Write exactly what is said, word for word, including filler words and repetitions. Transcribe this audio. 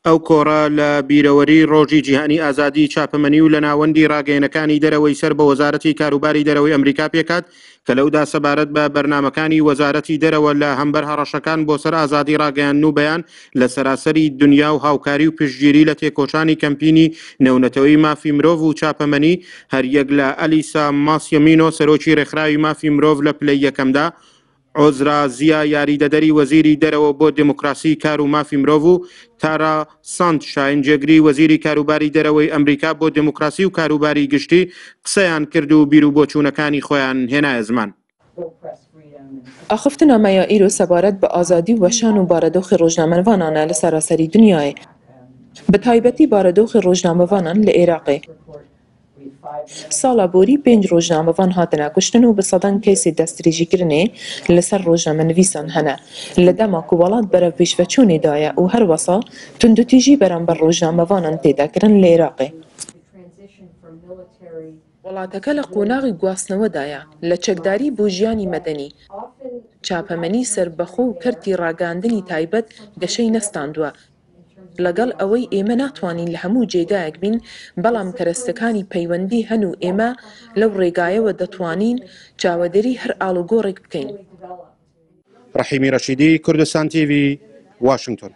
ئەو کۆڕە لە بیرەوەری ڕۆژی جیهانی ئازادی چاپەمەنی و لە ناوەندی ڕاگەیەنەکانی دەرەوەی سەر بە وەزارەتی کاروباری دەرەوەی ئەمریکا پێکات کە لەودا سەبارەت بە بەرنامەکانی وەزارەتی دەرەوە لە هەمبەر هەڕەشەکان بۆ سەر ئازادی ڕاگەیاندن و بەیان لە سەراسەری دنیا و هاوکاری و پشتگیری لە تێکۆشانی کەمپینی نێونەتەوەی مافی مرۆڤ و چاپەمەنی هەریەک لە ئەلیسا ماسیمینۆ سەرۆکی ڕێکخراوی مافی مرۆڤ لە پلەی یەکەمدا، عوزرا زیا یاریدەدەری وەزیری دەرەوە بۆ دێموکراسی کار و مافی مرۆڤ و تارا ساندشاین جێگری وەزیری کاروباری دەرەوەی ئەمریکا بۆ دێموکراسی و کاروباری گشتی قسەیان کرد و بیروبۆچوونەکانی خۆیان هێنایە زمان. ئاخفتنا me ya îro sebaret bi azadî û weşan û baredoxê rojnamevanan e li seraserî dinyayê. Bi taybetî baredoxê rojnamevanan li Êraqê. Sala borî pênc rojnamevan hatine kuştin û bi sedan keysê destdirêjîkirinê li ser rojnamenivîsan hene. Li dema ku welat berev pêşveçûnê daye û her wisa tundûtîjî beramber rojnamevanan tê dekirin li Êraqê. وڵاتەکە لە قۆناغی گواستنەوەدایە لە چەکداری بۆ ژیانی مەدەنی. چاپەمەنی سەربەخۆ و کەرتی ڕاگەاندنی تایبەت گەشەی نەستاندووە. لەگەڵ ئەوەی ئێمە ناتوانین لە هەموو جێگایەک بین، بەڵام کەرەستەکانی پەیوەندی هەن و ئێمە لەو ڕێگایەوە دەتوانین چاوەدێری هەر ئاڵوگۆڕێک بکەین. ڕەحیمی ڕەشیدی، کوردستان تیڤی، واشنگتۆن.